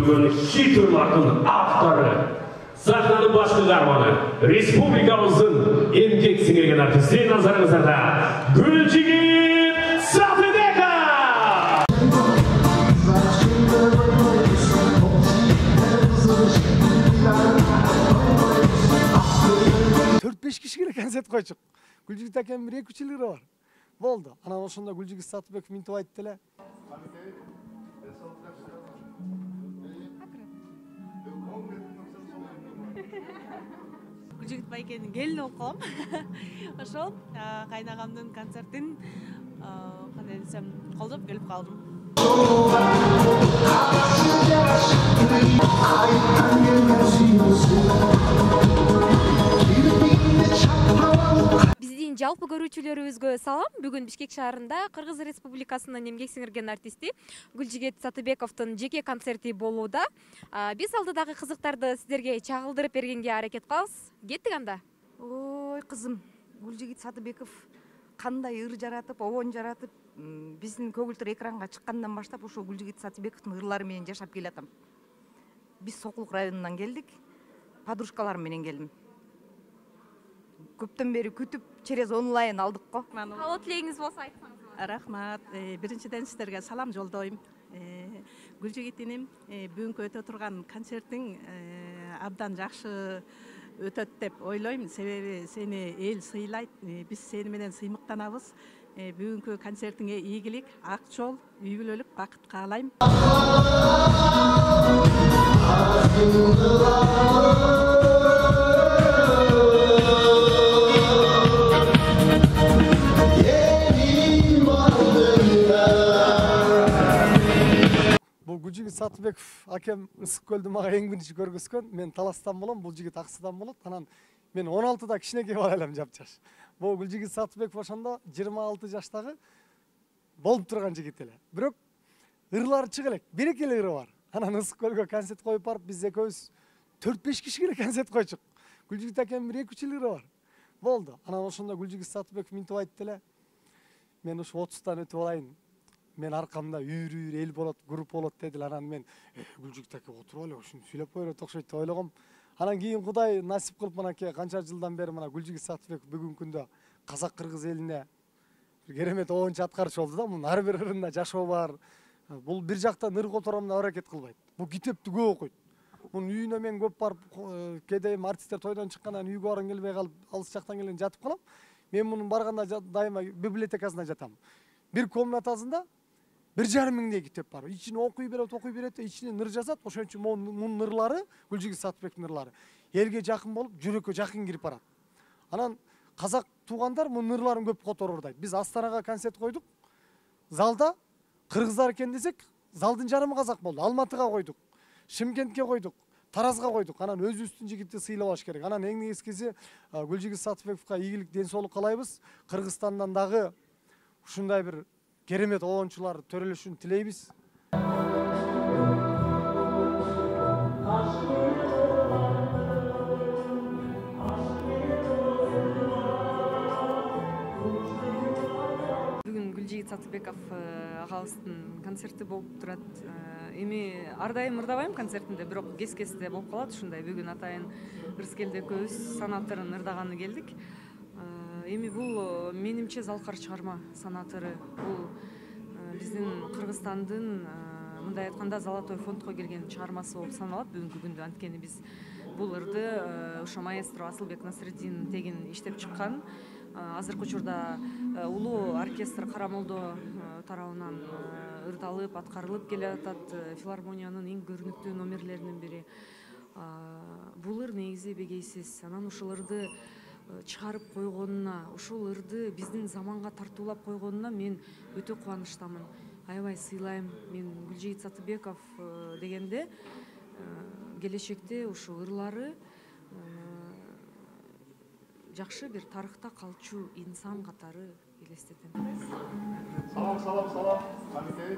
бүгүн шитурлардын автору, сахнанын башкы каарманы, республикабыздын эмгек сиңирген артисти назарыңыздарда Гүлжигит Сатыбеков. 4-5 кишиге концерт койчук. Гүлжигит акем 1-2 жылдары бар. Болду. Анан ошондо Гүлжигит Сатыбеков минтип айтты эле. Гүлжигит байкенин келини болуп калам. Ошол кайнагамдын концертин кандай десем колдоп келип калдым. Биздин жалпы көрүүчүлөрүбүзгө салам. Бүгүн Бишкек шаарында Кыргыз Республикасынын эмгек сиңирген артисти Гүлжигит Сатыбековдун жеке концерти болууда. Биз алдыдагы кызыктарды сиздерге чагылдырып бергенге аракет кылабыз. Кеттик анда. Ой, кызым, Гүлжигит Сатыбеков кандай ыр жаратып, обон жаратып, биздин көгүлтүр экранга чыккандан баштап ошо Гүлжигит Сатыбековдун ырлары менен жашап келатам. Биз Сокулук районунан келдик. Подружкаларым менен келдим. Көптөн бери күтүп, через онлайн алдык го. Каалоо тилегиңиз болсо айтсаңыз. Рахмат. Биринчиден сиздерге салам жолдойм. Гүлжигит иним, бүгүнкү өтө турган концертиң абдан жакшы өтөт деп ойлойм. Себеби сени эл сыйлайт. Биз сени менен сыймыктанабыз. Бүгүнкү концертиңе ийгилик, ак жол, үй бүлөлүк бакыт каалайм. Бул Гүлжигит Сатыбеков акем Ысык көлдү мага эң биринчи көргөзгөн. Мен Таластан болом, бул жигит Аксыдан болот. Анан мен 16да кичинекей бала элем, жапжаш. Бул Гүлжигит Сатыбеков ошондо 26 жаштагы болуп турган жигит эле. Бирок ырлары чыга элек, берекелүү ыры бар. Анан Ысык көлгө концерт коюп барып, биз экөөбүз 4-5 кишиге концерт койчук. Гүлжигит акем 1-2 жылдары бар. Болду. Анан ошондо Гүлжигит Сатыбеков минтип айтты эле. Мен ушу 30тан өтүп алайын. Мен аркамда үйрү эл болот, групп болот дедил. Анан мен Гүлжигит аке отуруп эле ушуну сүйлөп койрот окшойт деп ойлогом. Анан кийин Кудай насип кылып мынакей канча жылдан бери мына Гүлжигит Сатыбеков бүгүнкү күндө казак-кыргыз элине керемет обончу аткарчу болду да. Мунун ар бир ырында жашоо бар. Бул бир жактан ыр котором деп аракет кылбайт. Бул китепти көп окуйт. Мунун үйүнө мен көп барып, кээде артисттер тойдон чыккандан үйгө баргым келбей калып, алыс жактан келген жатып калам. Мен мунун барганда дайыма библиотекасында жатам. Бир комнатасында 1,5 миңдей китеп бар. Ичине окуй берет, ичинен ыр жазат. Ошон үчүн мунун ырлары, Гүлжигит Сатыбековдун ырлары элге жакын болуп, жүрөккө жакын кирип барат. Анан казак туугандар мунун ырларын көп которуп ырдайт. Биз Астанага концерт койдук. Залда кыргыздар экен десек, залдын жарымы казак болду. Алматыга койдук, Шымкентке койдук, Таразга койдук. Анан өзүбүздүн жигитти сыйлабаш керек. Анан эң негизгиси Гүлжигит Сатыбековго ийгилик, ден соолук каалайбыз. Кыргызстандан дагы ушундай бир керемет обончулар төрөлүшүн тилейбиз. Бүгүн Гүлжигит Сатыбеков агабыздын концерти болуп турат. Эми ар дайым ырдабайм концертинде, бирок кес-кесте болуп калат ушундай. Бүгүн атайын Ырыскелде экөөбүз санаторун ырдаганы келдик. Эми бул менимче залкар чыгарма санатору. Бул биздин Кыргызстандын мындай айтканда Золотой фондко кирген чыгармасы болуп саналат бүгүнкү күндө. Анткени биз бул ырды ошо маэстро Асылбек Насреддин тегин иштеп чыккан. Азыркы учурда улуу оркестр Карамолдо тарабынан ырдалып, аткарылып келе атат. Филармониянын эң көрүнүктүү номерлеринин бири. Бул ыр негизи бегейсиз. Анан ушул ырды чыгарып койгонуна, ушул ырды биздин заманга тартуулап койгонуна мен өтө кубанычтамын. Аябай сыйлайм. Мен Гүлжигит Сатыбеков дегенде келечекте ушул ырлары жакшы бир тарыхта калчу инсан катары элестетем. Салам. Камитей.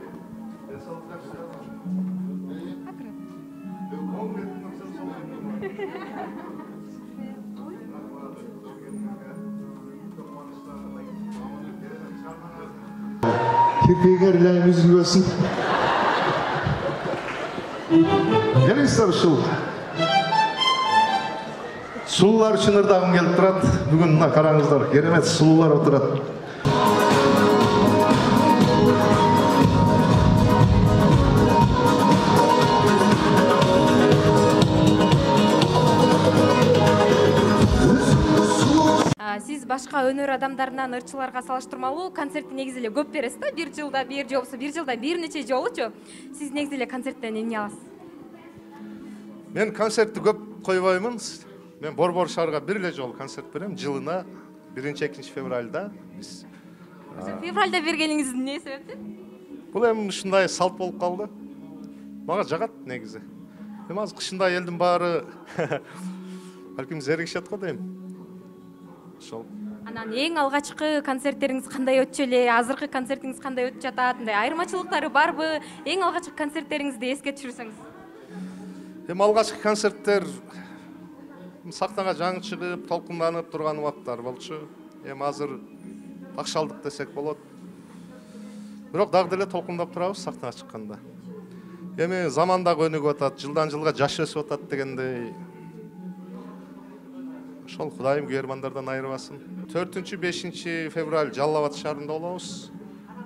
Kirpiğe gerilen yüzün görsün. келиңиздер ушул сулуулар үчүн ырдагым келип турат. Бүгүн мына караңыздар, керемет сулуулар отурат. Сиз башка өнөр адамдарынан ырчыларга салыштырмалуу концертти негизи эле көп бересиз да, бир жылда бир же болбосо бир жылда бир нече жолучу. Сиз негизи эле концерттен эмне аласыз? Мен концертти көп койбоймун. Мен Борбор шаарга бир эле жолу концерт берем, жылына 1-2 февралда. Февралда бергениңиз эмне себептен? Бул эми ушундай салт болуп калды. Мага жагат негизи. Эми азыр кышында элдин баары балким зеригишет го дейм. Ошол. Анан эң алгачкы концерттериңиз кандай өтчү эле? Азыркы концертиңиз кандай өтүп жатат? Мындай айырмачылыктары барбы? Эң алгачкы концерттериңизди эске түшүрсөңүз. Эми алгачкы концерттер сахнага жаңы чыгып, толкунданып турган убакыттар болчу. Эми азыр такшалдык десек болот. Бирок дагы деле толкундап турабыз сахнага чыкканда. Эми заман да өнүгүп атат, жылдан жылга жаш өсүп атат дегендей. Ошол Кудайым күйөрмандардан айырбасын. 4-5 февраль Жалал Абад шаарында болобуз.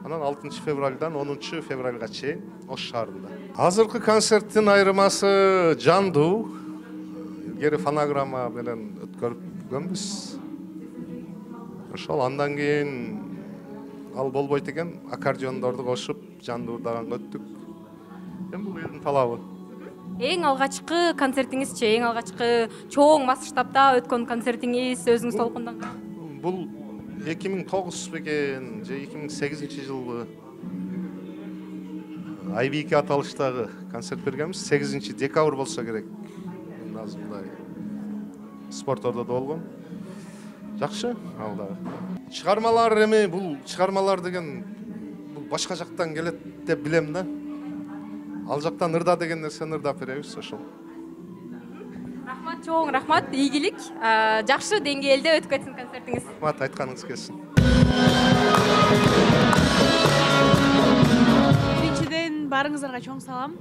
Анан 6 февральдан 10 февральга чейин Ош шаарында. Азыркы концерттин айырмасы жандуу. Илгери фонограмма менен өткөргөнбүз. Ошол андан кийин ал болбойт экен, аккордеондорду кошуп жандуу ырдаганга өттүк. Эми бул элдин талабы. Эң алгачкы концертиңизчи, эң алгачкы чоң масштабта өткөн концертиңиз өзүңүз толкунданган? Бул 2009 бекен же 2008 жылы IB2 аталыштагы концерт бергенбиз. 8 декабрь болсо керек. Азыр мындай спорт ордодо болгон. Жакшы, ал дагы. Чыгармалар эми бул чыгармалар деген бул башка жактан келет деп билем да. Ал жактан ырда деген нерсени ырдап беребиз ошол. Рахмат, чоң рахмат, ийгилик. Жакшы деңгээлде өтүп кетсин концертиңиз. Рахмат, айтканыңыз келсин. Биринчиден баарыңыздарга чоң салам.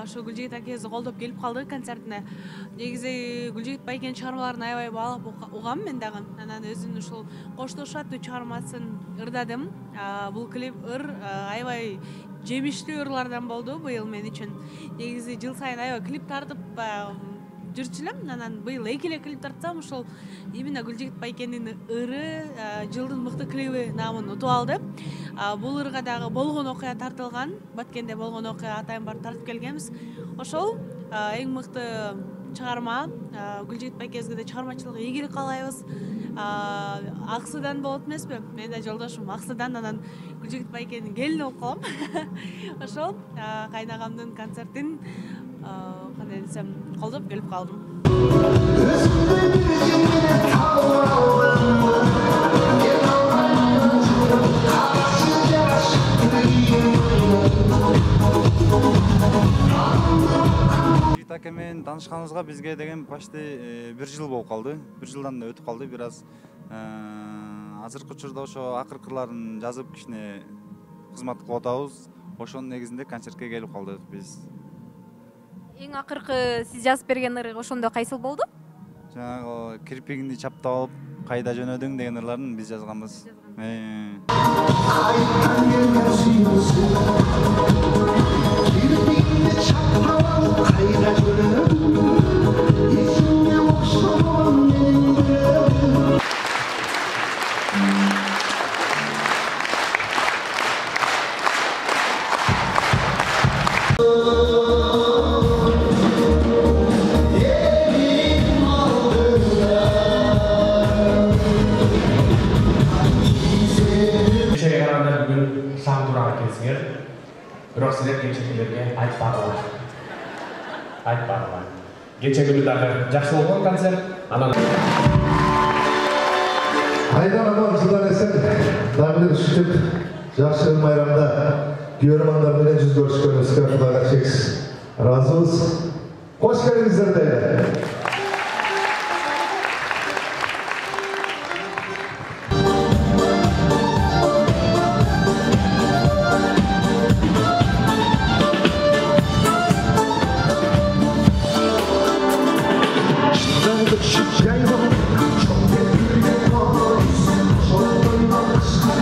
Ошо Гүлжигит акебизди колдоп келип калды концертине. Негизи Гүлжигит Байкенин чыгармаларын аябай баалап угам мен дагы. Анан өзүнүн ушул Коштош аттуу чыгармасын ырдадым. Бул клип аябай жемиштүү ырлардан болду быйыл мен үчүн. Негизи жыл сайын аябай клип тартып жүрчү элем. Анан быйыл 2 эле клип тартсам, ошол именно Гүлжигит Байкенин ыры жылдын мыкты клиби наамын утуп алды. Бул ырга дагы болгон окуя тартылган. Баткенде болгон окуя атайын барып тартып келгенбиз. Ошол эң мыкты чыгарма. Гүлжигит Байкебизге да чыгармачылык ийгилик каалайбыз. Аксыдан болот эмеспи? Мен да жолдошум Аксыдан, анан Гүлжигит Байкенин келини болуп калам. Ошол кайнагамдын концертин кандай десем колдоп келип калдым. Аке менен таанышканыбызга бизге деген почти 1 жыл болуп калды. 1 жылдан өтүп калды. Бир аз азыркы учурда ошо акыркыларын жазып кичине кызмат кылып атабыз. Ошонун негизинде концертке келип калдык биз. Эң акыркы сиз жазып берген ыры ошондо кайсыл болду? Жанагы кирпигиңди чаптап алып, кайда жөнөдүң деген ырларын биз жазганбыз. Бирок силер кечекелерге айтпадыңар. Кече күнү дагы жакшы болгон концерт. Анан Айдан жылдан эсен дагы бир ушинтип жакшы майрамда күйөрмандар менен жүз көрүшкөнүбүзгө Кудайга чексиз ыраазыбыз. Кош келиңиздер дейли.